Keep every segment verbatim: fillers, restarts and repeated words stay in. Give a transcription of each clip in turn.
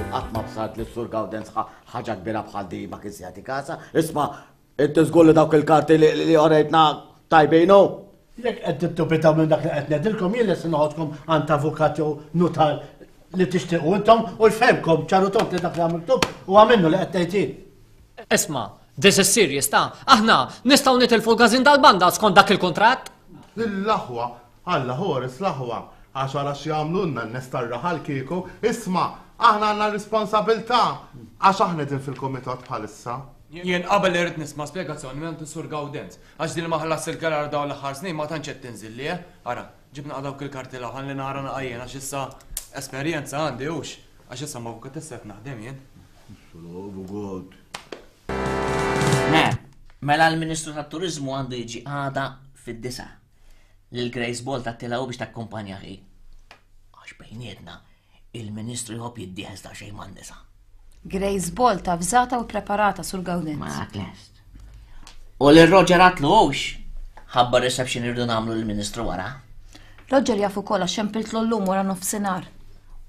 Qatt ma bsart li s-Sur Gawdenz ħaġa kbira bħal di ma kienx jagħti kasa. Isma', inti żgur li dawk il-karti li orejtna tajbinu? Jekk qed tiddubitaw minn dak li qed ngħidilkom, jien lest noħodkom għand avukat jew nutar li tixtiequ intom u jfehmkom ċaru tont li dak li għamiltu huwa minnu li qed ngħid jien. Isma', this is serious ta' aħna nistgħu nitilfu l-każin tal-banda skont dak il-kuntratt. L-aħwa, Alla ħores l-aħwa, għax ara x'jagħmlulna n-nies tar-raħal kieku, isma' aħna għandna responsabilità għax aħna qegħdin fil-kumitat bħalissa. Jien qabel irid nisma' spjegazzjoni minn Sur Gawdenz, għax din ma ħallas il-kerar dawn l-aħħar snin ma tantx qed tinżilli, eh? Ara, ġibna dawk il-karti l li nara naqajjen għax issa esperjenza għandi hux, għax issa ma avukatessa qed naħdem jien. Me, mela l-Ministru tat-Turiżmu għandu jiġi għada fid-disa. Lil Grace Bolt għattilha biex takkumpanja hi. Għax bejnietna, il-Ministru jħobb jiddieħes ta' xejn man-nisa. Grace Bolt avżata u preparata Sur Gawdenz. Ma lest. U lil Roger għatlu hux. Ħabba reception irridu nagħmlu lill-Ministru wara. Roger jaf ukoll għax xempiltlu llum wara nofsinhar.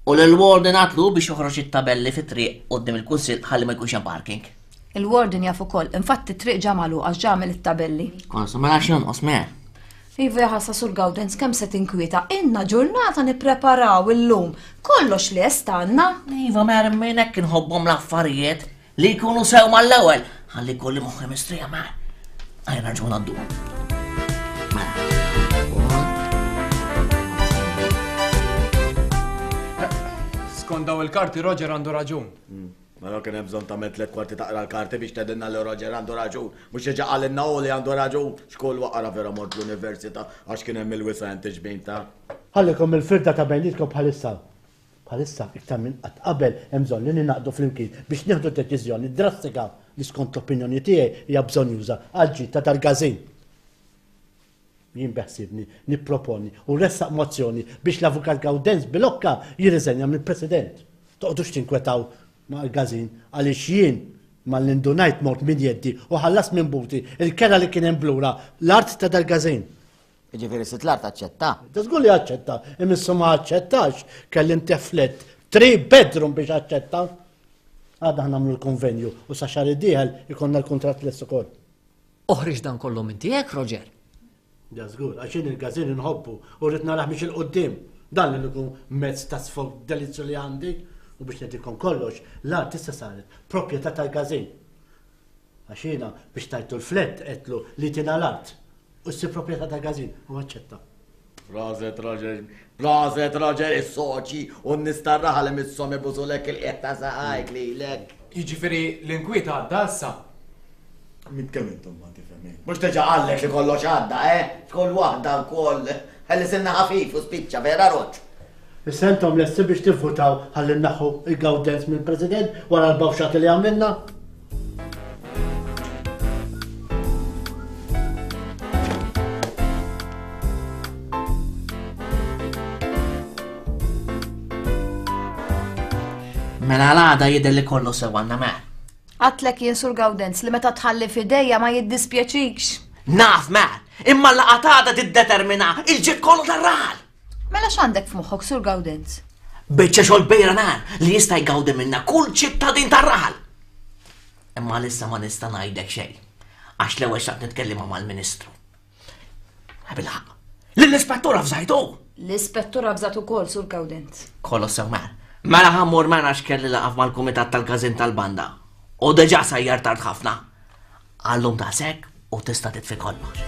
U lil Warden għatlu biex joħroġ it-tabelli fit-triq quddiem il-kunsill ħalli ma jkunx hemm parking. Il-Warden jaf ukoll, infatti t-triq ġa magħluq għax ġa għamel it-tabelli. Konsu mela x'jonqos me. Iva jaħasra Sur Gawdenz kemm se tinkwieta, inna ġurnata nippreparaw illum. Kollox lest għandna. Iva mer minn hekk inħobbhom l-affarijiet li jkunu sew mal-ewwel. Ħalli kolli moħħi mistrija ma. Għajja nerġgħu ngħaddu. Skont daw il-karti Roger għandu raġun. Mela kien hemm bżonn tagħmel tliet kwarti taqra l-karti biex tgħidilna li Roger għandu raġun, mhux diġà qalilna hu li għandu raġun. Xkull waqra vera mort l-università għax kien hemm il-wisa' tiġbin ta'. Ħallikom il-firda ta' bejnietkom bħalissa. Bħalissa iktar minn qatt qabel hemm bżonn li ninaqdu flimkien biex nieħdu deċiżjoni drastika li skont l-opinjoni tiegħi hija bżonjuża għall-ġid ta' dal-każin. Jien beħsibni nipproponi u ressaq mozzjoni biex l-Avukat Gawdenz Bilocca jirriżenja mill-President. Toqgħodux tinkwetaw ma' l-każin għaliex jien mal-indunajt mort minn jeddi u ħallas minn buti il-kera li kien hemm blura l-art ta' dal-każin. Jiġifieri sitt l-art aċċetta? Ta' żgur li aċċetta, imissu ma aċċettax kelli nteflet three bedroom biex aċċetta. Għadna nagħmlu l-konvenju u sa xahar id-dieħel ikollna l-kuntratt lest ukoll. Oħriġ dan kollu minn tiegħek, Roger. Ja żgur, għax jien il-każin inħobbu u rrid narah biex il-qudiem. Dan li nkun mezz ta' sfog delizzju li għandi. U biex ngħidilkom kollox, l-art issa saret proprjetà tal-każin. Għax jiena biex tajtu l-flett qedlu li tina l-art u ssir proprjetà tal-każin u aċċetta. Proset Roger, proset Roger, is-soċi u n-nies tar-raħal li misshom ibusulek il-qiegħ ta' saqajk lilek. Jiġifieri l-inkwiet għadda issa. Min kemm intom ma tifhemmin. Mhux diġà qallek li kollox għadda, eh? Xkull waħda wkoll. Ħalli silna ħafif u spiċċa vera Roġ. Issa intom lesti biex tivvutaw ħalli nnaħħu il-Gawdenz mill-President wara l-bawxat li għamilna? Mela l-għada jidher li kollu sew għandna me. Għatlek jien Sur Gawdenz li meta tħalli f'idejja ma jiddispjaċikx. Naf me, imma l-laqgħa t'għada tiddetermina il-ġid kollu tar-raħal. Mela x'għandek f'moħħok Sur Gawdenz? Biċċa xogħol bejra nar li jista' jgawdi minna kull ċittadin tar-raħal. Imma lissa ma nista' ngħidlek xejn, għax l-ewwel xtaqt nitkellem mal-Ministru. Bilħaq, lill-ispettur avżajtu. L-ispettur avżat ukoll Sur Gawdenz. Kollu sew mer. Mela ħammur mena għax kelli laqaf mal-kumitat tal-każin tal-banda. U diġà sajjar tard ħafna. Għallum daqshekk u tista' titfi kollox.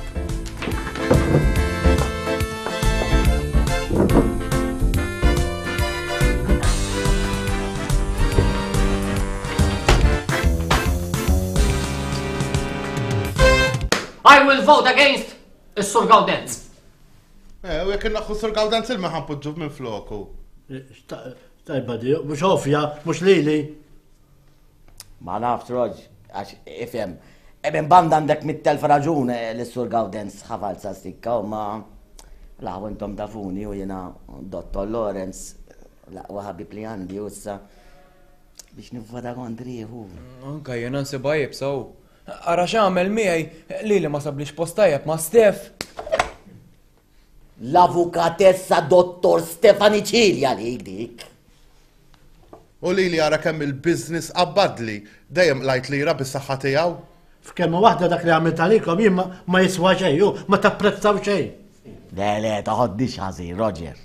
I will vote against Is-Sur Gawdenz. Eh, u jekk inneħħu Sur Gawdenz il ħa npoġġu minn floku. Tajba di, mhux ovvja, mhux lili. Ma nafx, Roġ, għax ifhem. Minn banda għandek mitt elf raġun li Sur Gawdenz ħa falza stikka u ma laħu intom tafuni u jiena Dottor Lawrence l-aqwa ħabib li għandi u issa biex nivvota kontriħu. Anka jiena nsibha iebsa u. Ara x'għamel miegħi li li ma sablix post tajjeb ma' Stef. L-avukatessa Dottor Stefani Cilia li dik. U li li ara kemm il-business qabbadli, dejjem lajt lira bis-saħħa tiegħu. F'kelma waħda dak li għamilt għalikom jien ma jiswa xejn, u ma tapprezzaw xejn. Le, le, toħodniex ħażin, Roger.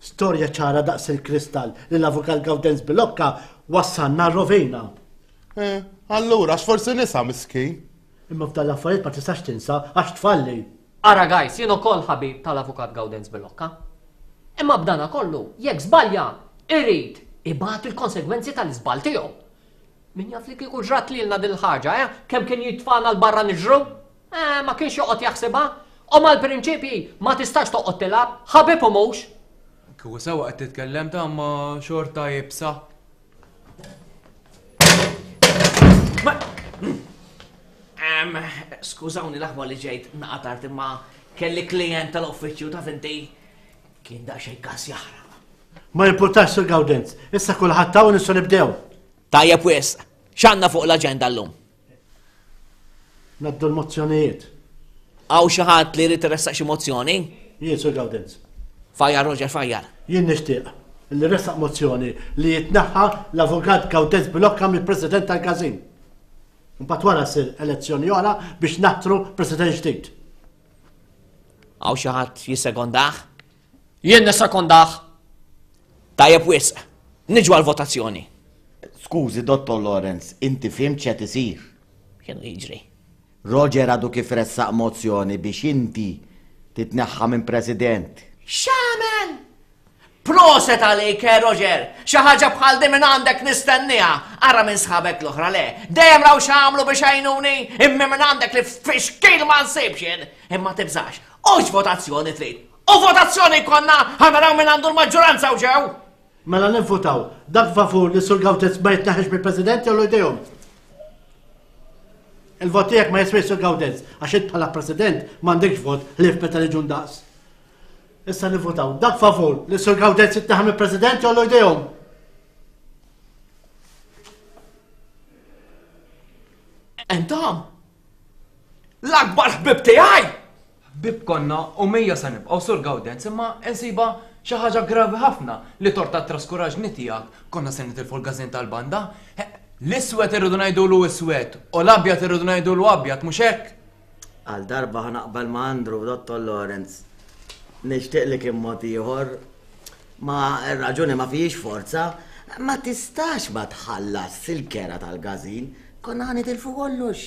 Storja ċara daqs il-kristall li l-avukat Gawdenz Bilocca wassalna rovina. Eh, allura, x'forsi nisa miskin. Imma f'dan l-affarijiet ma tistax tinsa għax tfalli. Ara guys, jien ukoll ħabib tal-avukat Gawdenz Bilocca. Imma b'dana kollu, jekk żbalja, irid ibati l-konsegwenzi tal-iżball tiegħu. Min jaf li kieku ġrat lilna din il-ħaġa, eh? Kemm kien jitfana l-barra niġru? Eh, ma kienx joqgħod jaħsibha. U mal-prinċipji ma tistax toqgħod tilgħab, ħabib u mhux. Kieku sewwa qed titkellem ta' ma xorta jibsa. Skużawni l-aħwa li ġejt naqatart imma kelli klient tal-uffiċċju ta' finti kien daqsxejn każ jaħraq. Ma jimpurtax Sur Gawdenz, issa kulħadd hawn nistgħu nibdew. Tajjeb wisq, x'għandna fuq l-aġenda llum? Naddu l-mozzjonijiet. Hawn xi ħadd li jrid iressaq xi mozzjoni? Jien Sur Gawdenz. Fajjar Roger, fajjar. Jien nixtieq li ressaq mozzjoni li jitneħħa l-avukat Gawdenz Bilocca mill-President tal-Każin. Imbagħad wara ssir elezzjoni oħra biex naħtru President ġdid. Hawn xi ħadd jissekondah? Jien nissekondah. Tajjeb wisq, niġu għal-votazzjoni. Skużi, Dottor Lawrence, inti fhimt x'qed isir. X'inhu jiġri? Roger għadu kif ressaq mozzjoni biex inti titneħħa minn President. X'għamel? Proset għalik, eh, Roger! Xi ħaġa bħal din minn għandek nistenniha. Ara minn sħabek l-oħra le. Dejjem raw x'għamlu biex għajnuni, imma minn għandek li fixkil ma nsibx jien. Imma tibżax, hux votazzjoni trid. U votazzjoni konna ħa naraw minn għandu l-maġġoranza u ġew. Mela nivvutaw, dak favur li Sur Gawdenz ma jitneħħiex mill-President jew jdejhom. Il-vot tiegħek ma jiswiex Sur Gawdenz, għax int bħala President m'għandekx vot ħlief meta niġu ndaqs. Issa nivvutaw, dak favur li Sur Gawdenz jitneħħa mill-President jew jdejhom. Intom? L-akbar ħbib tiegħi! Ħbib konna u mejja se nibqgħu Sur Gawdenz, imma insiba xi ħaġa gravi ħafna li torta traskuraġni tiegħek konna se nitilfu l-każin tal-banda. L-iswed irridu ngħidulu iswed u l-abjad irridu ngħidulu abjad, mhux hekk? Għal darba ħa naqbel ma' Andrew, Dottor Lawrence. Nixtieq li kien mod ieħor, ma r-raġuni ma fijiex forza, ma tistax ma tħallas il-kera tal-każin, konna ħa nitilfu kollox.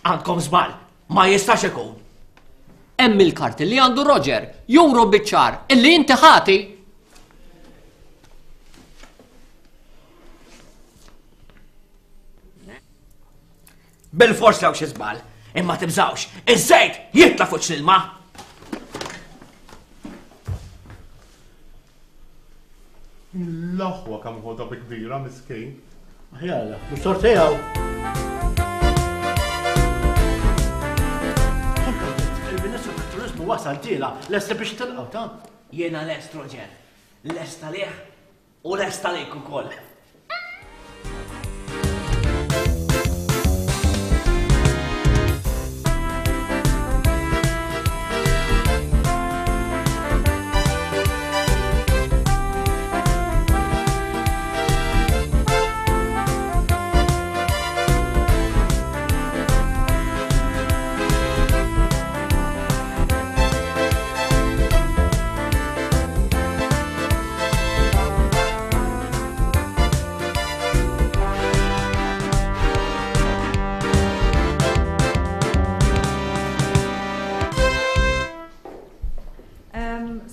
Għandkom żball, ma jistax ikun. Hemm il-karti li għandu Roger, juru biċ-ċar illi inti ħati. Bil-fors hawn xi żball, imma tibżgħux, iż-żejt jitla' fuq l-ilma. L-aħwa kemm ħodha bi kbira miskin. Aħjar, mhux tort tiegħu. Il-Ministru tat-Turiżmu wasal tiela, lest biex tilqgħu ta'. Jiena lest, Roger. Lest għalih u lest għalik ukoll.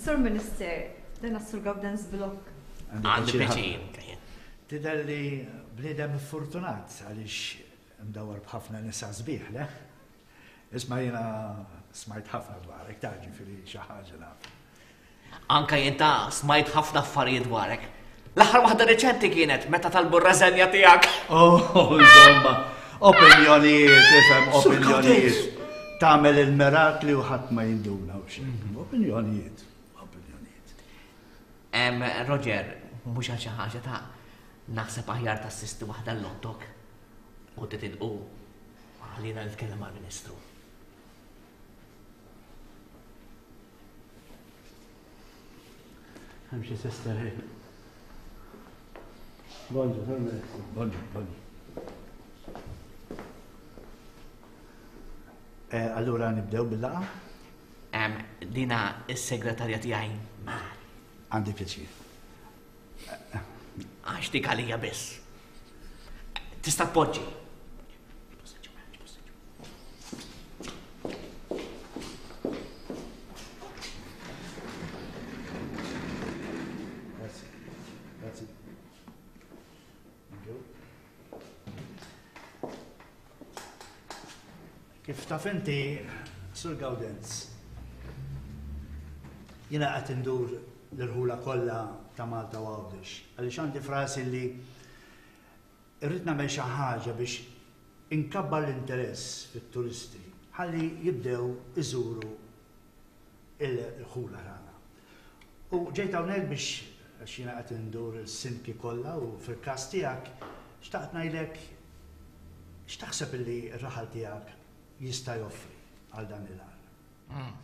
Sur Minister, dan Sur Gawdenz Bilocca. Għandi pjaċir. Tidher li bniedem fortunat għaliex mdawar b'ħafna nisa sbieħ, le? Isma' jiena Smajt ħafna dwarek, ta' ġifieri xi ħaġa naf. Anka jien ta' smajt ħafna affarijiet dwarek. L-aħħar waħda reċenti kienet meta talbu r-reżenja tiegħek. Oh, insomma, opinjonijiet, ifhem, opinjonijiet. Tagħmel il-mirakli u ħadd ma jinduna u xejn. Opinjonijiet, opinjonijiet. Em, Roger, mhux għal xi ħaġa ta' naħseb aħjar tassisti waħda l-lottok u titilqu ħallina nitkellem mal-Ministru. Hemm xi sister hi. Bonġu, Sur Ministru. Bonġu, bonġu. Eh, allura nibdew bil-laqgħa? Em, dina is-segretarja tiegħi Mar, Għandi pjaċir. għax dik għalija biss. Tista' tpoġġi. Grazzi. Grazzi. Thank you. Kif taf inti, Sur Gaudenz, jiena qed indur l-irħula kollha ta' Malta u Għawdex, għaliex għandi frasi li irrid nagħmel xi ħaġa biex inkabbar l-interess fit-turisti ħalli jibdew iżuru il-ħula tagħna. U ġejt hawnhekk biex għax jiena qed indur is-sindki kollha u fil-każ tiegħek xtaqt ngħidlek x'taħseb illi r-raħal tiegħek jista' joffri għal dan il-għan.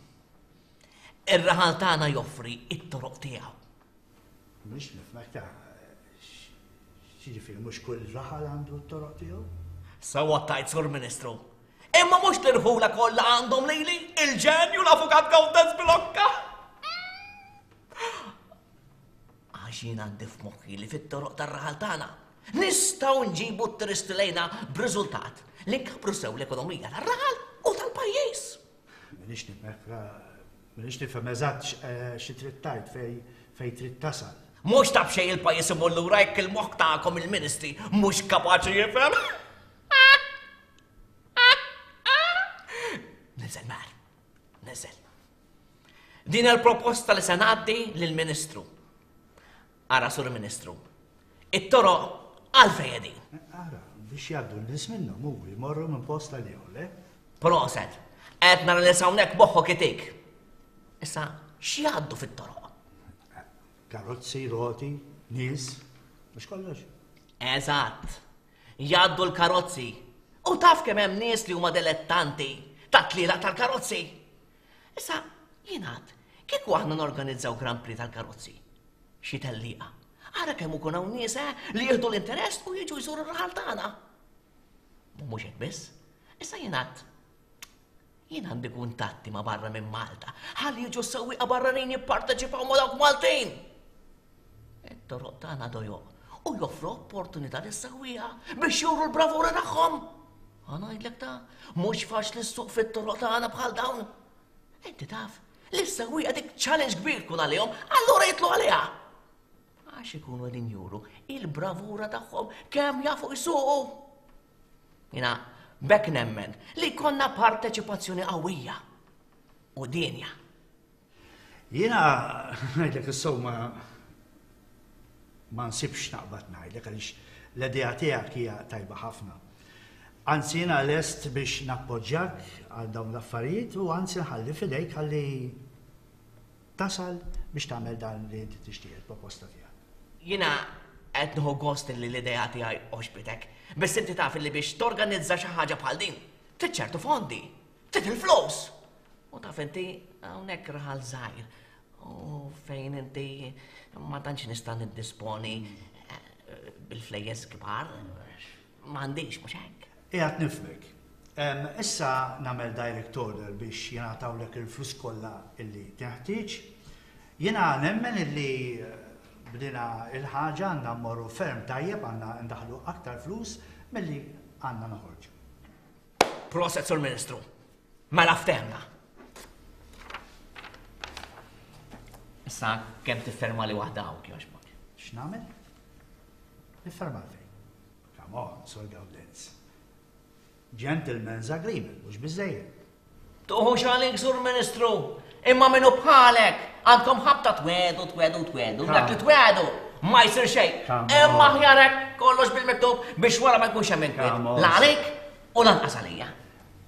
Ir-raħal tagħna joffri it-toroq tiegħu. Mhux nifhmek ta' x'jiġifieri mhux kull raħal għandu t-toroq tiegħu? Sewwa tajt Sur Ministru. Imma mhux l-irħula kollha għandhom lili, il-ġenju l-avukat Gawdenz Bilocca. Għax jien għandi f'moħħi li fit-toroq tar-raħal tagħna nistgħu nġibu t-turisti lejna b'riżultat li nkabbru sew l-ekonomija tar-raħal u tal-pajjiż. M'iniex nifhmek, m'iniex nifhem eżatt xi trid tgħid fej fej trid tasal. Mhux ta' b'xejn il-pajjiż imur lura jekk il-moħħ tagħkom il-ministri mhux kapaċi jifhem. Niżel mar, niżel. Din il-proposta li se ngħaddi lill-Ministru. Ara, Sur Ministru, it-toroq għalfejn qegħdin. Ara, biex jgħaddu n-nies minnhom u jmorru minn post għal ieħor, le? Proset, qed nara li hawnhekk moħħok itik. Issa, x'jgħaddu fit-toroq? Karozzi, roti, nies, mhux kollox. Eżatt, jgħaddu l-karozzi. U taf kemm hemm nies li huma dilettanti ta' tlielaq tal-karozzi. Issa, jingħad, kieku aħna norganizzaw Grand Prix tal-karozzi, xi tellieqa. Ara kemm ikun hawn nies, eh, li jieħdu l-interess u jiġu jżuru r-raħal tagħna. U mhux hekk biss, issa jingħad, jien għandi kuntatti ma' barra minn Malta, ħalli jiġu s-sewwieqa barranin jipparteċipaw ma' dawk Maltin. It-toroq tagħna dojoq u joffru opportunità lis-sewwieqa biex juru l-bravura tagħhom. Ħa ngħidlek ta' mhux faċli ssuq fit-toroq tagħna bħal dawn. Inti taf, li s-sewwieqa dik challenge kbir tkun għalihom, allura jitlu għaliha. Għax ikunu qegħdin juru il-bravura tagħhom kemm jafu jsuqu. Jiena b'hekk nemmen li jkollna parteċipazzjoni qawwija u dinja. Jiena ngħidlek is-sew ma ma nsibx naqbad ngħidlek għaliex l-idea tiegħek hija tajba ħafna. Anzi jiena lest biex nappoġġjak għal dawn l-affarijiet u anzi nħalli f'idejk ħalli tasal biex tagħmel dan li inti tixtieq il-proposta tiegħek. Jiena qed nieħu gost li l-idea tiegħi għoġbitek, biss inti taf li biex torganizza xi ħaġa bħal din, trid ċertu fondi, trid il-flus. U taf inti hawnhekk raħal żgħir u fejn inti ma tantx nista' niddisponi, eh, bil-flejjes kbar, m'għandix mhux hekk. Qiegħed nifhmek. Em, issa nagħmel direct order biex jingħatawlek il-flus kollha illi teħtieġ. Jiena nemmen illi bdina il-ħaġa għandna mmorru ferm tajjeb, għandna ndaħlu aktar flus milli għandna noħorġu. Proset, Sur Ministru. Mela ftehmna. Issa kemm tifferma li waħda hawn jogħġbok. X'nagħmel? Nifferma fejn. Come on, Sur Gaudenz. Gentleman's agreement, mhux biżejjed. Tuħux għalik, Sur Ministru, imma minnu bħalek, għandkom ħabta twedu, twedu, twedu, dak li twedu, ma jsir xejn. Imma ħjarek kollox bil-miktub biex wara ma jkunx hemm inkwiet. La għalik u lanqas għalija.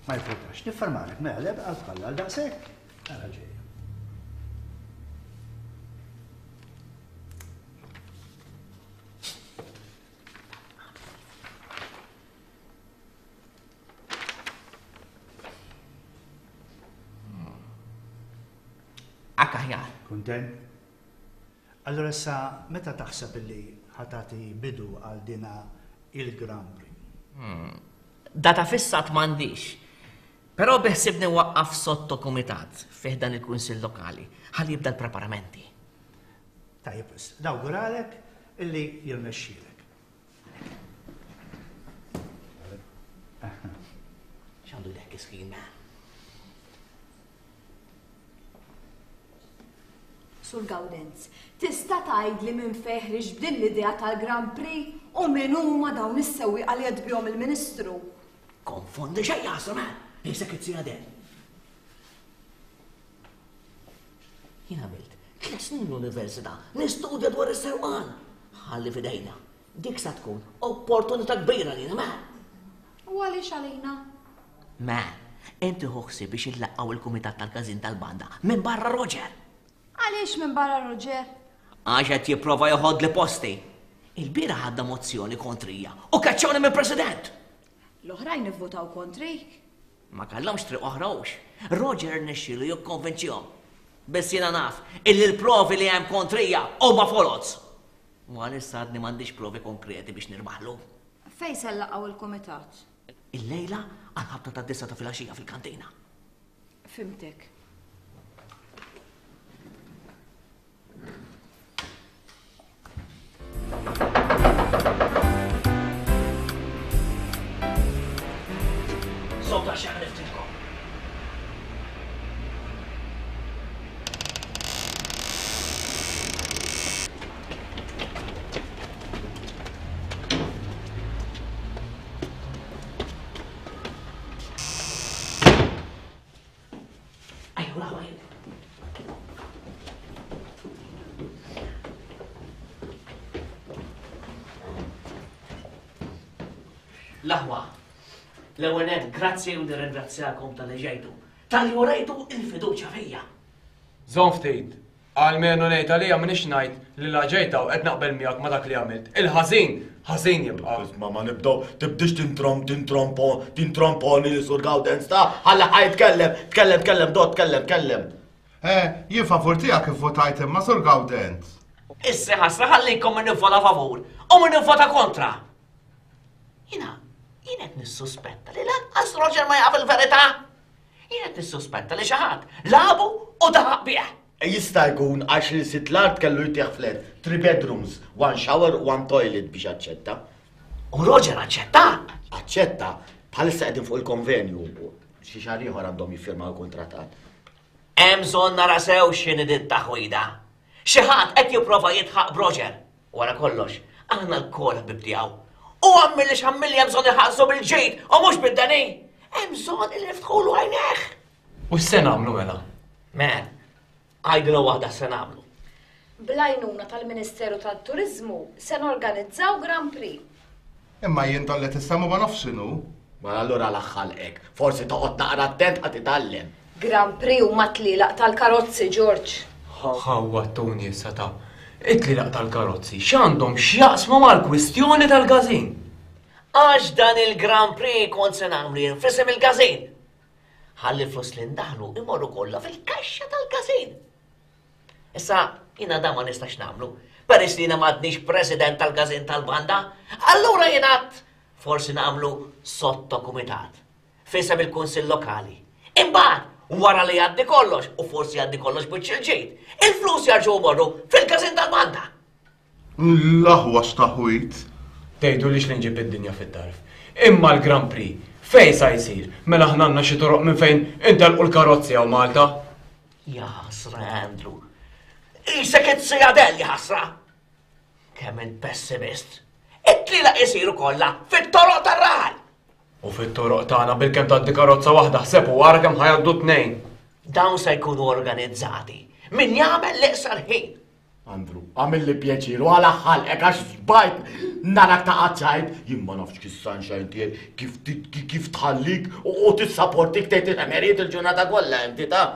Ma jfutax, niffermalek, mela le għal bħalla għal daqshekk. Ara ġejja. Akka aħjar. Kuntent? Allora issa meta taħseb illi ħatati bidu għal dina il-Grand Prix? Data fissat m'għandix. Però biħsibni waqqaf sotto komitat fih dan il-Kunsill Lokali ħalli jibda l-preparamenti. Tajjeb, nawguralek illi jirnexxielek. X'għandu dek iskin? Sur Gawdenz, tista' tgħidli minn fejn ħriġ b'din l-idea tal-Grand Prix u min huma dawn is-sewwieqa li qed bihom il-Ministru? Konfondi xejn jaħseb, eh? Isek it-sija del. Jien għamilt tliet snin l-università nistudja dwar is-sewqan. Ħalli f'idejna. Dik sa tkun opportunità kbira lina, ma. U għaliex għalina? Ma, inti ħoħsi biex illaqgħu il-kumitat tal-każin tal-banda minn barra Roger. Għaliex minn barra Roger? Għax qed jipprova joħodli posti. Il-bieraħ għadda mozzjoni kontrija u kaċċawni minn president. L-oħrajn ivvutaw kontrik. Ma kellhomx triq oħra hux. Roger rnexxielu jikkonvinċihom. Biss jiena naf illi l-provi li hemm kontrija huma foloz. U għalissa għadni m'għandix provi konkreti biex nirbaħlu. Fejn se nlaqgħu il-kumitat? Illejla għal ħabta ta' disa ta' filgħaxija fil-kantina. Fimtek. Sota xi ħriftilkom. L-aħwa, l-ewwel nett, grazzi u nirringrazzjakom tal-li ġejtu, tal-li urejtu il-fiduċja fija. Żomm ftit, almenu ngħid għalija m'iniex ngħid li la ġejta u qed naqbel miegħek ma' dak li għamilt. Il-ħażin, ħażin jibqa'. Isma' ma nibdew, tibdix tintrom, tintrompo, tintromponi li Sur Gawdenz ta' ħalli ħaj tkellem, tkellem, tkellem, dot, tkellem, tkellem. Eh, jien favur tiegħek ivvotajt imma Sur Gawdenz. Issa ħasra ħallikom min nivvota favur u min nivvota kontra. Jiena, jien qed nissuspetta li lanqas Roger ma jaf il-verità. Jien qed nissuspetta li xi ħadd labu u daħaq bih. Jista' jkun għax li sit l-art kellu jtieħ flat, three bedrooms, one shower, one toilet biex aċċetta. U Roger aċċetta? Aċċetta, bħalissa qegħdin fuq il-konvenju. Xi xahar ieħor għandhom jiffirmaw il-kuntratt. Hemm bżonn nara sew x'inhi din taħwida. Xi ħadd qed jipprova jitħaq b'Roger. Wara kollox, aħna lkoll ħbib tiegħu. U għammilli x'għammilli hemm bżonn iħallsu bil-ġid u mhux bid-deni. Hemm bżonn li niftħulu għajnejh. U x'se nagħmlu mela? Man, għajdilha waħda x'se nagħmlu. Bl-għajnuna tal-Ministeru tat-Turiżmu se norganizzaw Grand Prix. Imma jien dan li tissemmu ma nafx x'inhu. Ma allura l-aħħalqek, forsi toqgħod naqra attent ħa titgħallem. Grand Prix huma tlielaq tal-karozzi, George. Ħawwa Tony issa ta' it-tlielaq tal-karozzi x'għandhom x'jaqsmu mal-kwistjoni tal-każin? Għax dan il-Grand Prix kont se nagħmlu jien f'isem il-każin. Ħalli l-flus li ndaħlu imorru kollha fil-kaxxa tal-każin. Issa jiena dan ma nistax nagħmlu, peress li jiena m'għadniex president tal-każin tal-banda, allura jien għadt forsi nagħmlu sottokumitat f'isem il-Kunsill Lokali. Imbagħad wara li jgħaddi kollox, u forsi jgħaddi kollox biċ il-ġid, il-flus jarġgħu jmorru fil-każin tal-banda. L-aħwa x'taħwit. Tgħidu lix li nġib id-dinja fit-tarf. Imma l-Grand Prix fejn sa jsir? Mela aħna għandna xi toroq minn fejn intelqu l-karozzi hawn Malta. Ja ħasra, Andrew. Isek it-sijadell, ja ħasra. Kemm int pessimist. It-tlielaq isiru kollha fit-toroq tar-raħal. U fit-toroq tagħna bilkemm tgħaddi karozza waħda ħseb u wara kemm ħajgħaddu tnejn. Dawn se jkunu organizzati. Min jagħmel l-iqsar ħin. Andrew, għamilli pjaċir u għala ħalqek għax xbajt narak ta' qaċċajt. Jien ma nafx kif sunshine tiegħek, kif kif tħallik u tissaportik tgħid il-ħmerijiet il-ġurnata kollha inti ta'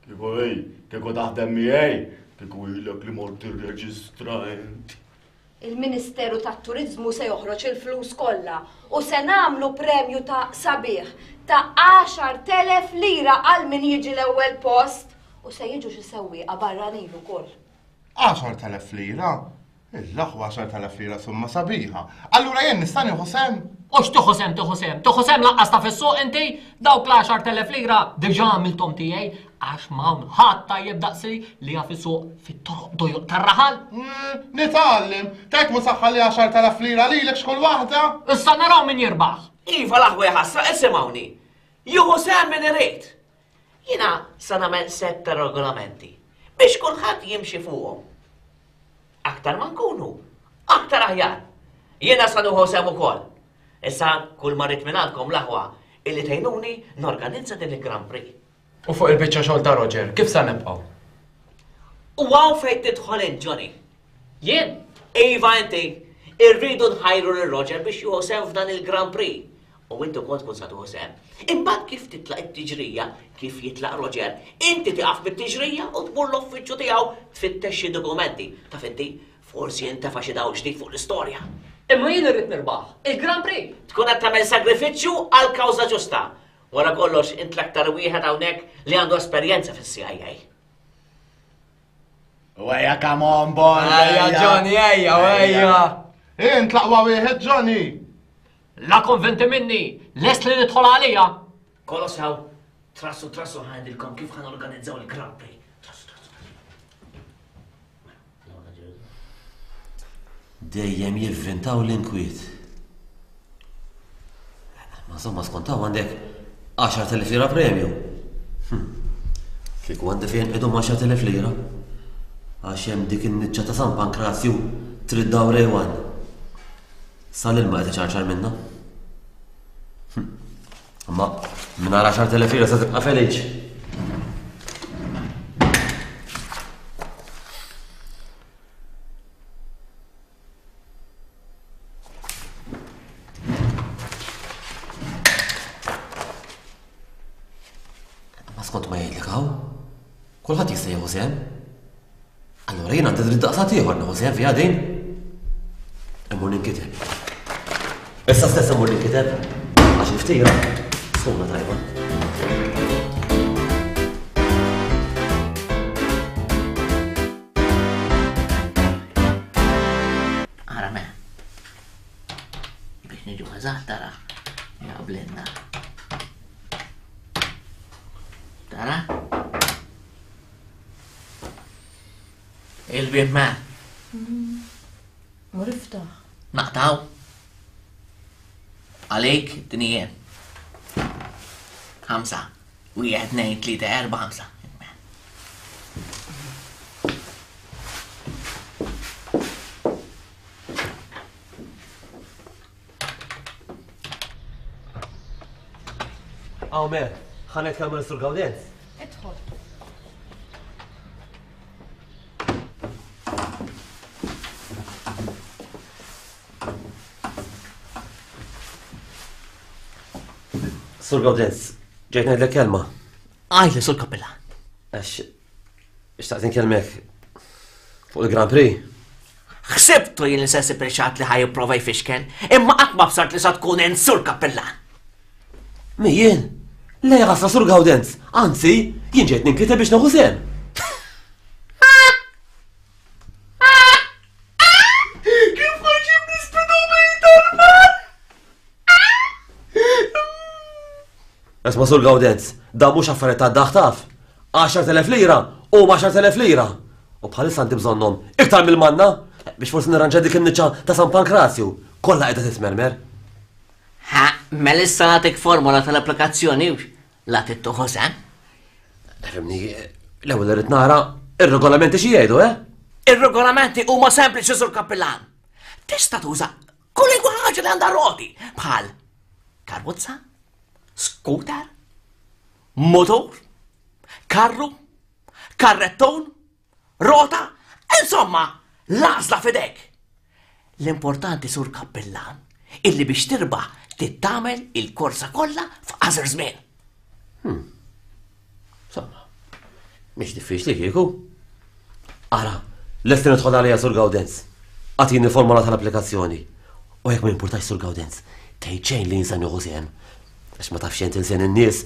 kieku ej, kieku taħdem miegħi, kieku ilek li mort tirreġistra inti. Il-Ministeru tat-Turiżmu se joħroġ il-flus kollha u se nagħmlu premju ta' sabiħ ta' għaxart elef lira għal min jiġi l-ewwel post u se jiġu xi sewwieqa barranin ukoll. Għaxart elef lira? Il-aħwa għaxart elef lira summa sabiħa. Allura jien nista' nieħu sehem? U x'tieħu sehem tieħu sehem? Tieħu sehem lanqas ta' fis-suq inti? Dawk l-għaxart elef lira diġà għamilthom tiegħi għax m'hawn ħadd tajjeb daqsi li jaf isuq fit-toroq dojoq tar-raħal. Nitgħallem, tgħid mhu saħħa li għaxart elef lira lilek x'kull waħda? Issa naraw min jirbaħ. Iva l-aħwa jħassra, isimgħuni. Jieħu sehem min irid. Jiena sa nagħmel sett ta' regolamenti biex kulħadd jimxi fuqhom. Aktar ma nkunu, aktar aħjar. Jiena sa nieħu sehem ukoll. Issa kull ma rrid minn għandkom l-aħwa illi tgħinuni norganizza din il-Grand Prix. U fuq il-biċċa xogħol ta' Roger, kif sa nibqgħu? U hawn fejn tidħol int, Johnny. Jien? Iva inti, irridu nħajru lil Roger biex jieħu sehem f'dan il-Grand Prix. U inti wkoll tkun sa tieħu sehem. Imbagħad kif titlaq it-tiġrija, kif jitlaq Roger, inti tieqaf mit-tiġrija u tmur l-uffiċċju tiegħu tfittex xi dokumenti. Taf inti, forsi jintefa' xi dawl ġdid fuq l-istorja. Imma jien irrid nirbaħ il-Grand Prix. Tkun qed tagħmel sagrifiċċju għal kawża ġusta. Wara kollox int l-aktar wieħed hawnhekk li għandu esperjenza fis-C I A. Ejja, come on, boy. Ejja, Johnny, ejja, ejja. Int l-aqwa wieħed, Johnny. La konvinti minni, lest li nidħol għalija. Kollox hawn, trassu trassu ħandilkom kif ħan organizzaw il-Grand Prix. Trassu, trassu, trassu. Dejjem jivvintaw l-inkwiet. Ma insomma skontaw għandek għaxart elef lira premju. Kieku għandi fejn qegħdu għaxart elef lira. Għax hemm dik in-niċċa ta' San Pankrazju trid daw rejwan. Sal-ilma qed iċarċar minna. Imma mingħajr għaxart elef lira se tibqa' feliċ. Ma skont ma jgħidlek hawn, kulħadd jista' jieħu sehem. Allura jien għandi dritt daqsat ieħor nieħu sehem fiha din. Immur ninkiteb. Issa stess immur ninkiteb għax il-ftira sħuna tajba. Ara me. Biex niġu eżatt tara jaqblilna. Tara? Il-bib me. Mur iftaħ. Naqtaw. Għalik dinija. Ħamsa. Wieħed, tnejn, tlieta, erba', ħamsa. Aw me, ħa nitkellmu l-Sur Gawdenz. Idħol. Sur Gawdenz, ġejt ngħidlek kelma. Għajli, Sur Kappillan. Għax, xtaqt inkellmek fuq il-Grand Prix. Ħsibtu jien li se nsib il-xatt li ħaj jipprova jfixkel, imma qatt ma bsart li sa tkun int Sur Kappillan. Mi jien? Le ħasra Sur Gawdenz, anzi, jien ġejt ninkiteb biex nieħu sehem. Kif ħaġib l-speedometer, man? Isma' Sur Gawdenz, da mhux affarijiet ta' daħ taf. Għaxart elef lira u għaxart elef lira. U bħalissa għandi bżonnhom iktar mill-manna biex forsi nirranġa dik in-niċċa ta' San Pankrazju. Kollha qiegħda titmermer. Ha, mela issa nagħtik formola tal-applikazzjoni la tittuħu sehem. Fimni, l-ewwel irid nara ir-regolamenti xi jgħidu, eh? Ir-regolamenti huma sempliċi Sur Kappillan. Tista' tuża kull ħaġa li għandha roti bħal Karozza, scooter, motor, karru, karrettun, rota, insomma, l-għażla f'idejk. L-importanti, Sur Kappillan, illi biex tirbaħ tittamel il-korsa kollha f'qasir żmien. Hmm. Insomma, mhix diffiċli kieku. Ara, lest nidħol għalija Sur Gawdenz. Agħtini formola tal-applikazzjoni. U jekk ma jimpurtax Sur Gawdenz, tgħid xejn li jinsa nieħu sehem. Għax ma tafx int insien in-nies.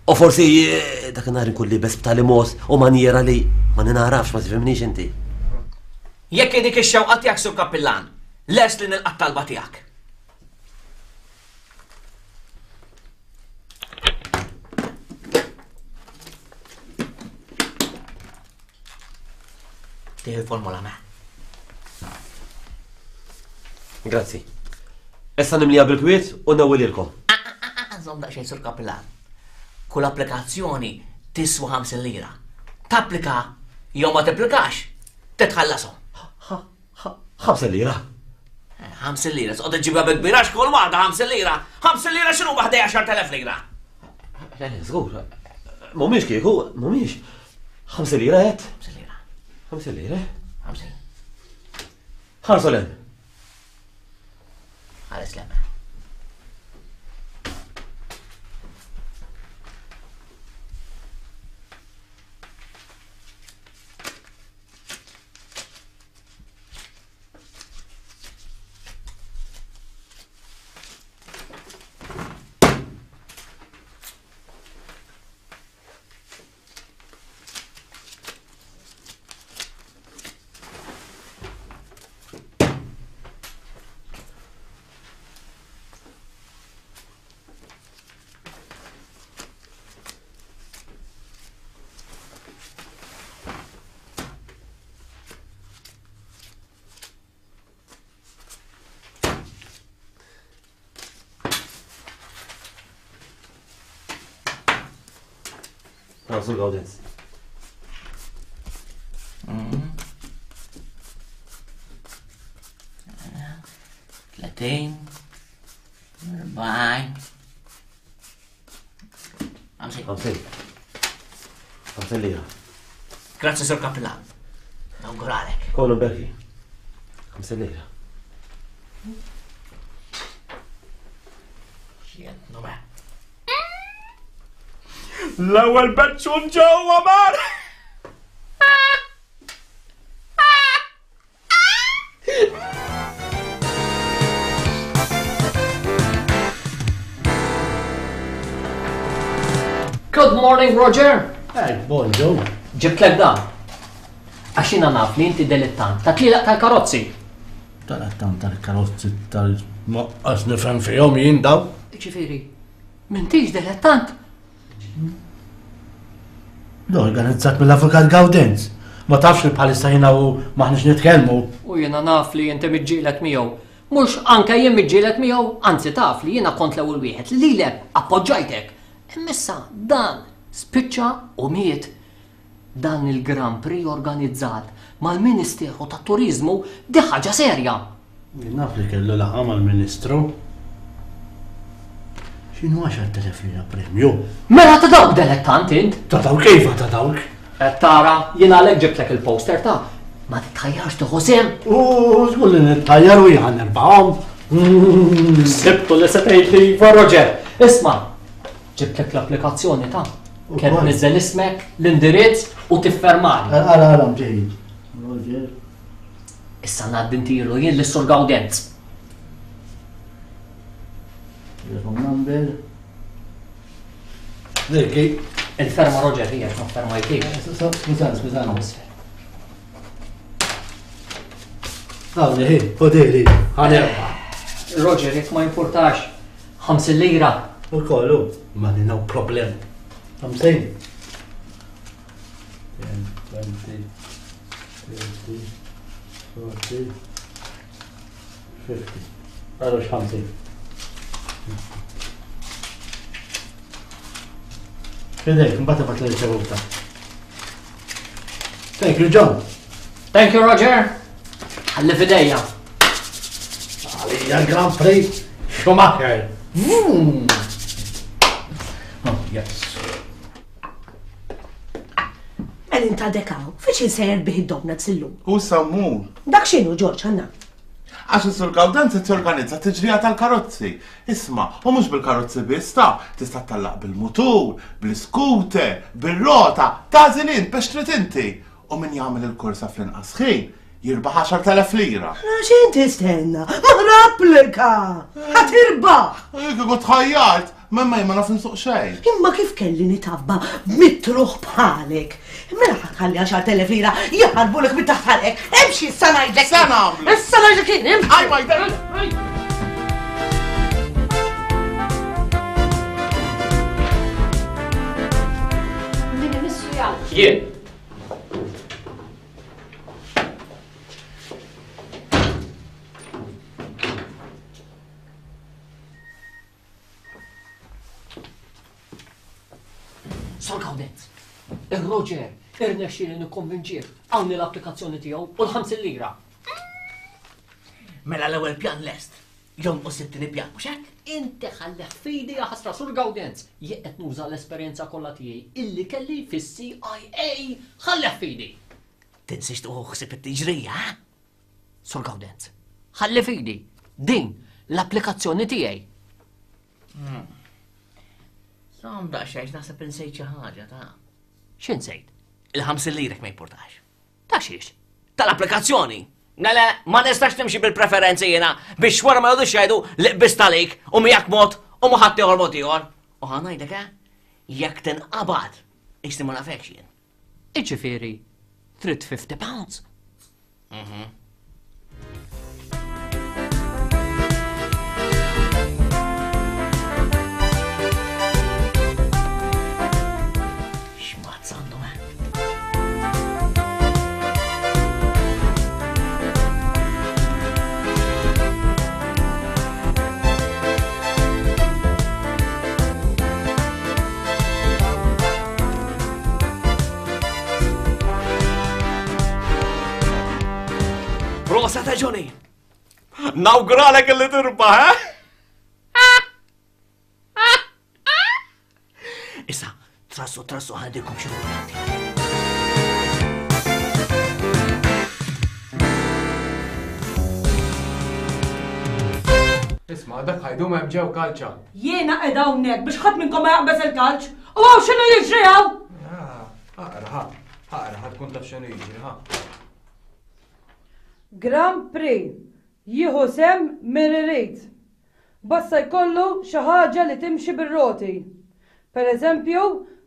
U forsi eh, dak in-nhar inkun libes b'tali mod u manjera li ma ninarafx, ma tifhimnix inti. Jekk dik ix-xewqa tiegħek, Sur Kappillan, lest li nilqa' t-talba tiegħek. Tieħu l-formola me. Grazzi. Issa nimlija bil-kwiet u nawwililkom. Żomm daqsxejn, Sur Kappillan. Kull applikazzjoni tiswa ħamsin lira. Tapplika jew ma tapplikax, titħallasom. Ħamsin lira? Ħamsin lira, tqgħod iġibha bi kbira x'kull waħda ħamsin lira. Ħamsin lira x'inhu waħda għaxar telef lira? Żgur. Mhumiex kieku, mhumiex. Ħamsin lira qed? Ħamsin lira. Ħamsin lira? Ħamsin. Ħarsu lem. Ħares lem. Sur Gawdenz. Tletin, erbgħin, ħamsin. Ħamsin. Ħamsin lira. Grazzi, Sur Kappillan. Nawguralek. Kollu berki. Ħamsin lira. Xien, nome. L-ewwel beċċun ġewwa mar! Good morning, Roger! Hey, bonġu. Ġibtlek dan. Għax jiena naf li inti delittant ta' tlilaq tal-karozzi. Tal-attant tal-karozzi tal-moqqas nifhem fihom jien daw. Ġifieri, m'intix delettant? L-organizzat mill-Avukat Gawdenz. Ma tafx li bħalissa jiena u maħniex nitkellmu. U jiena naf li inti miġġielet miegħu. Mhux anke jien miġġielet miegħu, anzi taf li jiena kont l-ewwel wieħed li lilek appoġġajtek. Imma dan spiċċa u miet. Dan il-Grand Prix organizzat mal-Ministeru tat-Turiżmu di ħaġa serja. Jien naf li kellu laqgħa mal-Ministru. X'inhu għaxar telef lira premju? Mela ta' dawk delettant int? Ta' dawk iva ta' dawk. Qed tara, jien għalhekk ġibtlek il-poster ta' ma titħajjarx tieħu sehem. U żgur li nitħajjar u jien nirbahom. Sibtu li se tgħid li iva, Roger. Isma', ġibtlek l-applikazzjoni ta' kemm tniżżel ismek, l-indirizz u tiffermani. Ara, ara, mġejjin. Roger. Issa ngħaddi ntiru jien lis-Sur Gawdenz. Telephone number. Dik. Il-ferma Roger hija ma fermajtix. Skużani, skużani. Għawni, hi, poderi, ħanerba. Roger, jekk ma jimpurtax, ħamsin lira. U kollu, ma no problem. Ħamsin. Ten, twenty, thirty, forty, fifty. Għarux ħamsin. Fidejk, mbagħad ibgħat l-riċevuta. Thank you, John. Thank you, Roger. Ħalli fidejja. Għalija Grand Prix Schumacher. Mm. Oh, yes. Mela inta dekaw, fiex sejjer bih id-donuts illum? U sammur. Dak x'inhu Ġorġ għandna? Għax is-Sur Gawdenz qed jorganizza tiġrija tal-karozzi. Isma', u mhux bil-karozzi biss ta' tista' tallaq bil-mutur, bl-iskuter, bir-rota, tagħżel int biex trid inti. U min jagħmel il-korsa fl-inqas ħin jirbaħ għaxart elef lira. X'in tistenna? Ma applika! Ħa tirbaħ! Kieku tħajjart, memma ma naf nsuq xejn. Imma kif kelli nitabba mitruħ bħalek? Mela ħa tħalli għaxart elef lira jaħarbulek minn taħt ħalqek. Imxi issa ngħidlek. Sa nagħmlu. Issa ngħidlek jien, imxi. Aj, ma jder. Min imissu jgħid. Jien. Sur Gawdenz, ir-Roger irnexxieli nikkonvinċih hawn l-applikazzjoni tiegħu u l-ħamsin lira. Mela l-ewwel pjan lest. Jonqos it-tieni pjan, mhux hekk? Inti ħallih fidi ja ħasra Sur Gawdenz. Jien qed nuża l-esperjenza kollha tiegħi illi kelli fis-C I A. Ħallih fidi. Tinsiex tieħu ħsieb it-tiġrija, ha? Sur Gawdenz, ħalli fidi din l-applikazzjoni tiegħi. Sam daqsxejn naħseb insejt xi ħaġa ta'. X'insejt? Il-ħamsin lirek ma jimpurtax. Ta' xiex? Tal-applikazzjoni. Mela, ma nistax nimxi bil-preferenzi jiena biex wara ma jgħodux jgħidu li qbist għalik u miegħek mod u ma ħadd ieħor mod ieħor. U ħa ngħidlek, eh? Jekk tinqabad, ixti ma nafekx jien. Iġifieri, trid fifty pounds. Mhm. Rosa ta' Johnny! Nawguralek illi tirbaħ, eh? Issa, trassu, trassu, ħandikom xi pjanti. Isma', dak ħajdu hemm ġew kalċa. Jiena qiegħda hawnhekk biex ħadd minnkom ma jaqbeż il-kalċ. U hawn x'inhu jiġri hawn? Aqra, ħa, aqra, ħa tkun taf x'inhu jiġri, ħa. Grand Prix jieħu sem min irid. Basta jkollu xi ħaġa li timxi bir-roti. Per eżempju,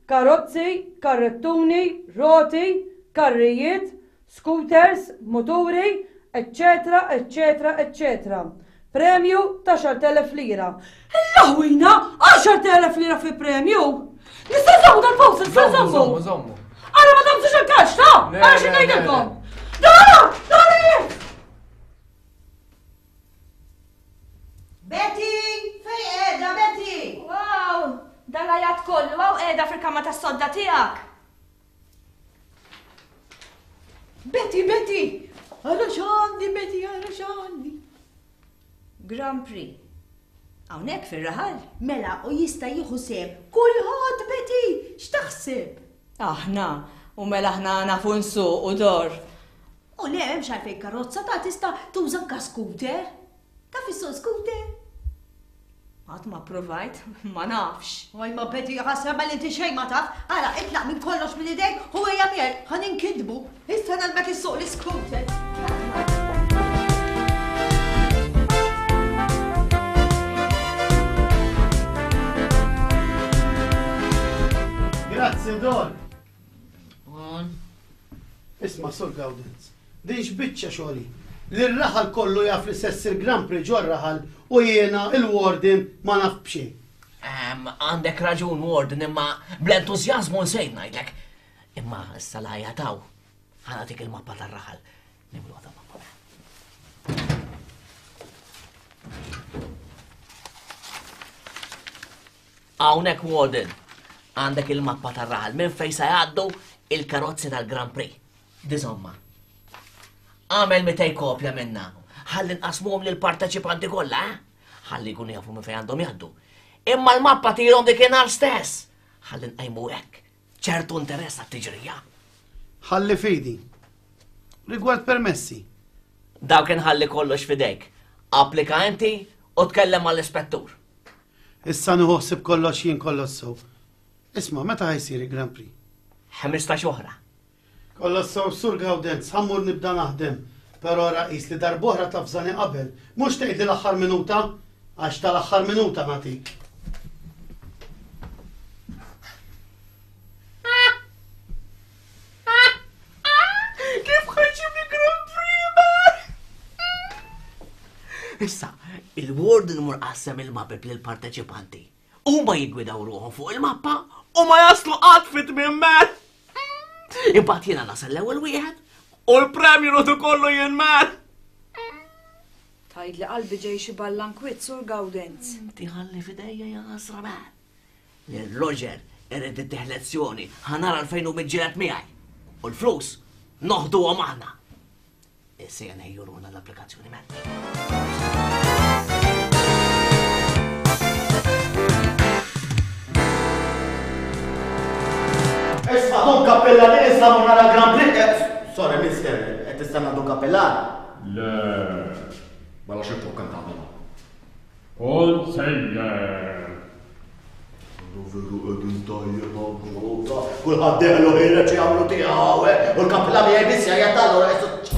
karozzi, karrettuni, roti, karrijiet, scooters, moturi, eccetera, eccetera, eccetera. Premju ta' għaxart elef lira. L-ħwina, għaxart elef lira fi premju! Nista' nżommu dal-post, nista' nżommu! Żommu, żommu. Ara ma tagħmlux il-kax, ta' Le, Ara xi le, le, ngħidilkom! le. Dara! Dara! Betty! Fej qiegħda, Betty! Wow! Dal-għajat kollu hawn qiegħda fil-kamra tas-sodda tiegħek. Betty, Betty! Ara x'għandi, Betty, ara x'għandi. Grand Prix. Hawnhekk fir-raħal. Mela, u jista' jieħu sehem kulħadd, Betty! X'taħseb? Aħna, u mela aħna nafu nsuq u dor. U le, hemmx għalfejn karozza ta' tista' tuża anke scooter. Taf issuq scooter? Qatt ma provajt, ma nafx. Oj, ma Betty, ħasra ma li inti xejn ma taf. Ara, itlaq minn kollox minn idejk u ejja miegħi, ħa ninkidbu. Issa nagħlmek issuq l-scooter. Grazzi, Don. Isma', Sur Gawdenz, din x'biċċa xogħli. Li r-raħal kollu jaf li se ssir Grand Prix ġo r-raħal u jiena il-warden ma naf b'xejn. Ehm, għandek raġun, warden, imma bl-entużjażmu nsejt ngħidlek. Imma issa l-ħajja taw. Ħa nagħtik il-mappa tar-raħal. Nimlu għadha mappa. Hawnhekk, warden, għandek il-mappa tar-raħal minn fejn se jgħaddu il-karozzi tal-Grand Prix. Dizomma. Għamel mitej kopja minna. Ħalli nqasmuhom lill-parteċipanti kollha, eh? Ħalli jkunu jafu minn fejn għandhom jgħaddu. Imma l-mappa tirhom dik inhar stess. Ħalli nqajmu hekk ċertu interess għat-tiġrija. Ħalli fidi. Rigward permessi. Dawk inħalli kollox fidejk. Applika inti u tkellem mal-ispettur. Issa nieħu ħsieb kollox jien kollox sew. Isma', meta ħa jsir il-Grand Prix? Ħmistax oħra. Kollox sew, Sur Gawdenz, ħa mmur nibda naħdem. Però raqis li darb'oħra tavżani qabel, mhux tgħidli l-aħħar minuta, għax tal-aħħar minuta nagħtik. Kif ħa jġib il-Grand Prix? Issa, il-warden mur qassem il-mapep lill-parteċipanti. Huma jiggwidaw ruħhom fuq il-mappa u ma jaslu qatt fit-tmiem man. Imbagħad jiena nasal l-ewwel wieħed u l-premju noħdu kollu jien man. Tgħid li qalbi ġej xi ballankwit, Sur Gawdenz. Inti ħalli fidejja ja ħasra man. Lil Roger irid ittih lezzjoni ħa nara l-fejn hu miġġieled miegħi. U l-flus noħduhom aħna. Issa nħejju ruħna l-applikazzjoni man. Isma' Dun Kappillan issa mur nara Grand Prix. Eh, sorry, mister, qed tistenna Dun Kappillan? Le, mela xi tokka tagħmel? Kont sejjer. Veru qegħdin tajjeb hawn Kulħadd deħlu ħireġ jagħmlu tiegħu, eh, u l-kappillan miegħi biss jgħid allura qisu ċessa.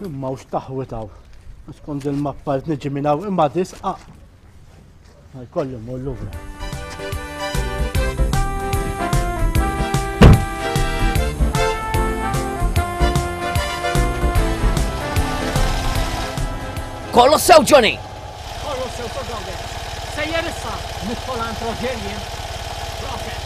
Imma u x'taħwitaw. Skont il-mappa li niġi minn hawn imma disqa. Ma jkolli mmur lura. Kollu sew, Johnny! Kollu sew, Sur Gawdenz. Sejjer issa nidħol għand Roger jien. Proset!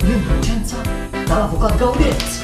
L-innoċenza tal-Avukat Gawdenz.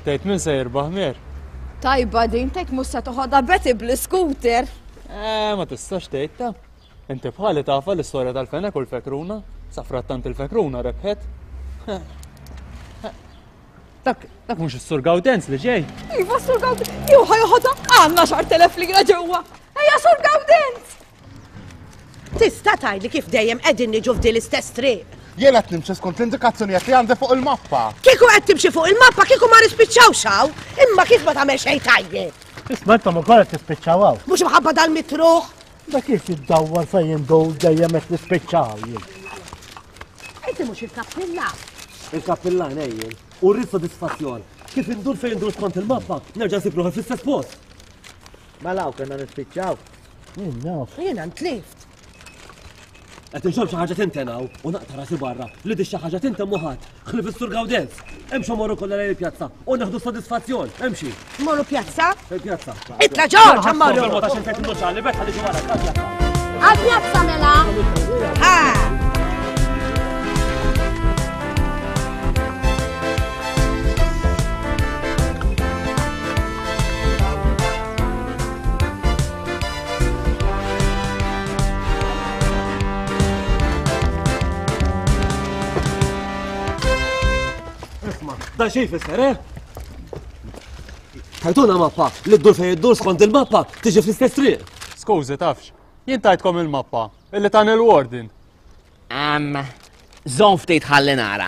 Tgħid min se jirbaħ Mir? Tajba din tgħid mhux se toħodha Betty bl-iskuter. Eh, ma tistax tgħid ta. Inti bħali tafa l-istorja tal-fenek u l-fekruna, sa frattant il-fekruna rebħet. Dak, dak mhux is-Sur Gawdenz li ġej. Iva Sur Gawdenz, jew ħa joħodha għandna xar telef lira ġewwa. Ejja Sur Gawdenz! Tista' tgħidli kif dejjem qegħdin niġu f'din l-istess triq. Jien qed nimxi skont l-indikazzjonijiet li għandi fuq il-mappa. Kieku qed timxi fuq il-mappa kieku ma nispiċċawx hawn, imma kif ma tagħmel xejn tajjeb. Isma' intom ukoll qed tispiċċaw hawn. Mhux imħabba dal-mitruħ. Da kif jiddawwar fejn indur dejjem qed nispiċċaw jien. Inti mhux il-kappilla. Il-kappillan ejjel. U rrid sodisfazzjon. Kif indur fejn indur skont il-mappa, nerġa' nsib ruħi fl-istess post. Mela hawn kellna nispiċċaw. Jien naf. Jiena ntlift. Qed inxomm xi ħaġa tintenaw u naqta' rasi barra li di xi ħaġa tintemm u ħadd ħlief is-Sur Gawdenz. Imxu morru kollha lejn il-pjazza u neħdu sodisfazzjon. Imxi. Morru pjazza? Il-pjazza. Itla' Ġorġ, mmorru. Il-mod għax infett innuċali, bet ħalli wara pjazza. Għal-pjazza mela! Ha! Dan xejn fisser, eh? Tajtuna mappa li ddur fejn iddur skont il-mappa tiġi fl-istess triq. Skużi tafx, jien tajtkom il-mappa illi tan il-warden. Am, żomm ftit ħalli nara.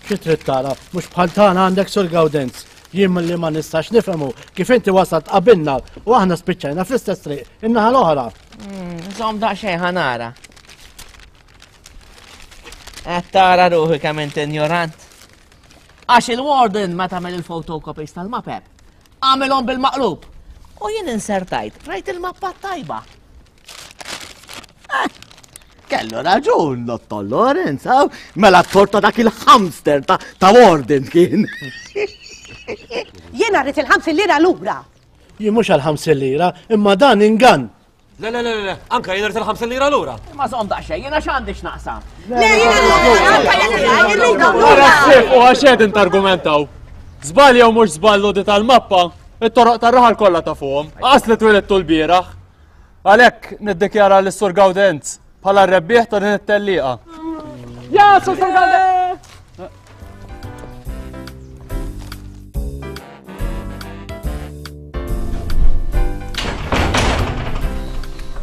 Xi trid tara, mhux bħal tagħna għandek Sur Gawdenz. Jien milli ma nistax nifhemu kif inti wasalt qabilna u aħna spiċċajna fl-istess triq in-naħa l-oħra. Żomm daqsxejn ħa nara. Qed tara ruħi kemm inti ignorant. Għax il-warden ma tagħmel il-photocopies tal-mapep. Għamilhom bil-maqlub. U jien insertajt, rajt il-mappa tajba. Eh, kellu raġun, Dottor Lorenz, hawn? Mela t-torta dak il-hamster ta', ta warden kien. Jiena rrid il-ħamsin lira lura. Jien mhux għall-ħamsin lira, imma dan ingann. Le, le, le, le, anka jien rrid il-ħamsin lira lura. Imma żomm daqsxejn, jiena x'għandi x'naqsam. Le, jiena lura, anka jiena lura. Ara s-sif u għax qegħdin targumentaw. Żball jew mhux żball l tal-mappa, it-toroq tar-raħal kollha ta' fuqhom. Qas li twilidtu l-bieraħ. Għalhekk niddikjara lis Sur Gawdenz bħala r-rebbieħ ta' din it-tellieqa. Ja, Sur Gawdenz!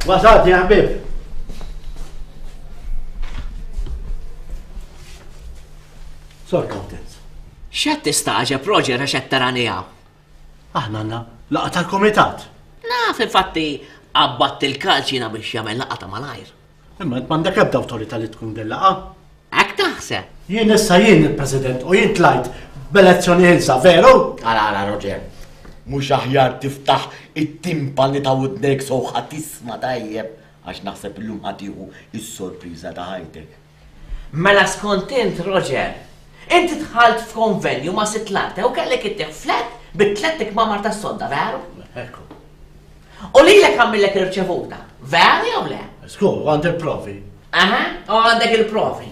Wasalt, ja ħbieb. Sor Gawdenz. X'qed tistagħġeb, Roger, għax qed tarani hawn? Aħna għandna laqgħa tal-kumitat. Naf, infatti, qabbadt il-kalċina biex jagħmel laqgħa ta' malajr. Imma int m'għandek ebda awtorità li tkun din laqgħa. Hekk taħseb? Jien issa jien il-President u jien tlajt b'elezzjoni ħilsa, veru? Ara, ara, Roger. Mhux aħjar tiftaħ it-timpani ta' widnejk so ħa tisma' tajjeb għax naħseb illum ħa tieħu s-sorpriża ta' ħajtek. Mela skont int, Roger, inti dħalt f'konvenju ma' Sitt Larte u kellek ittieħ flat bi tlett ikmamar tas-sodda, veru? Ekku. U lilek għamillek irċevuta, veru jew le? Skur, għandi il-provi. Aha, u għandek il-provi.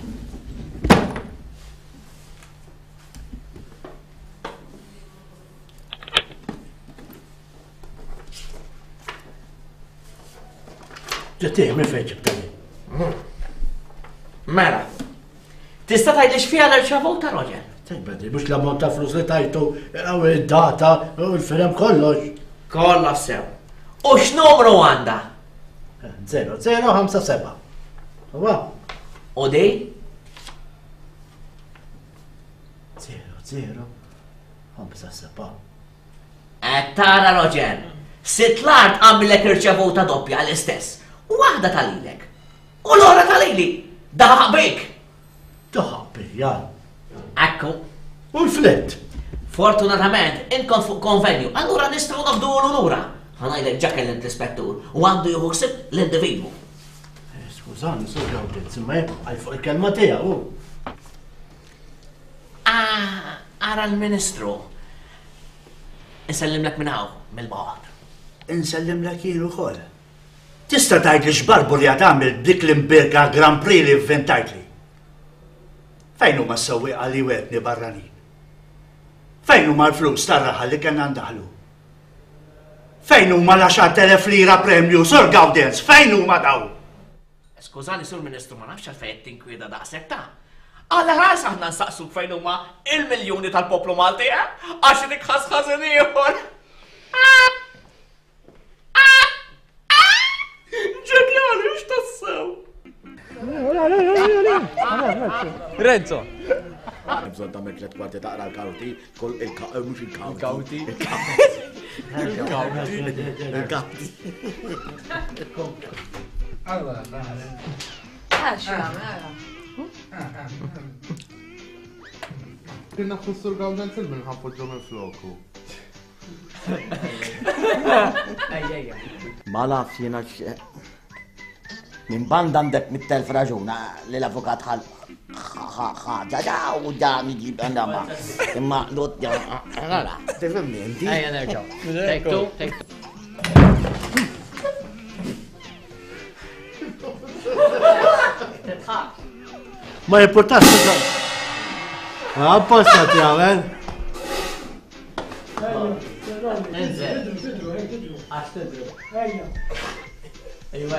Ġettih, minn fejn ġibtani? Mela, tista' tgħidli x'fiha l-irċevuta, Roger? Tgħidli, mhux l-ammont ta' flus li tajtu, u id-data, u l-firem kollox. Kollox sew. U x'numru għandha? Zero, zero, ħamsa, seba'. Huwa? U di? Zero, zero, ħamsa, seba'. Qed tara, Roger, Sitt l-art għamillek irċevuta doppja l-istess. Waħda tal-ilek. U l-oħra tal-ili. Daħaq bik. Daħaq bija. Ekku. U l-flett. Fortunatament, int kont fuq konvenju, allura nistgħu noħduhulu lura. Ħa ngħidlek ġa kellimt l-ispettur u għandu jieħu ħsieb l-individwu. Eh, skużani, Sur Gawdenz, imma jekk għal fuq il-kelma tiegħu. Ah, ara l-Ministru. Insellimlek minn hawn, mill-bogħod. Insellimlek jien ukoll. Tista' tgħidli x'barbu li qed tagħmel b'dik l-imbirka Grand Prix li vvintajtli? Fejn huma s-sewwieqa li wetni barranin? Fejn huma l-flus tar-raħal li kellna ndaħlu? Fejn huma l-għaxart elef lira premju, Sur Gawdenz? Fejn huma daw? Skużani, Sur Ministru, ma nafx għalfejn qed tinkwieta daqshekk ta'. Għal ħars aħna nsaqsuk fejn huma il-miljuni tal-poplu Malti, eh? Għax dik ħas ħażin ieħor. Ġenjali, mhux tassew. Renzo. Bżonn tagħmel tliet kwarti taqra l-kawti, kull il-ka-, mhux il-kawti. Il-kawti. Il-kawti. Għax jagħmel, ara. Kien nafu s-Sur Gawdenz il-min ħapoġġu minn floku. Ma nafx jiena x-, minn banda għandek mit-telf raġuna li l-avukat ħal ħaġa da u da miġib għandha ma. Imma lot ja, ara, tifhimni inti? Ejja nerġgħu. Take two, take two. Ma jimpurtax tuża. Apposta tagħmel. Enzel. Għax tidru. Ejja. Ejwa.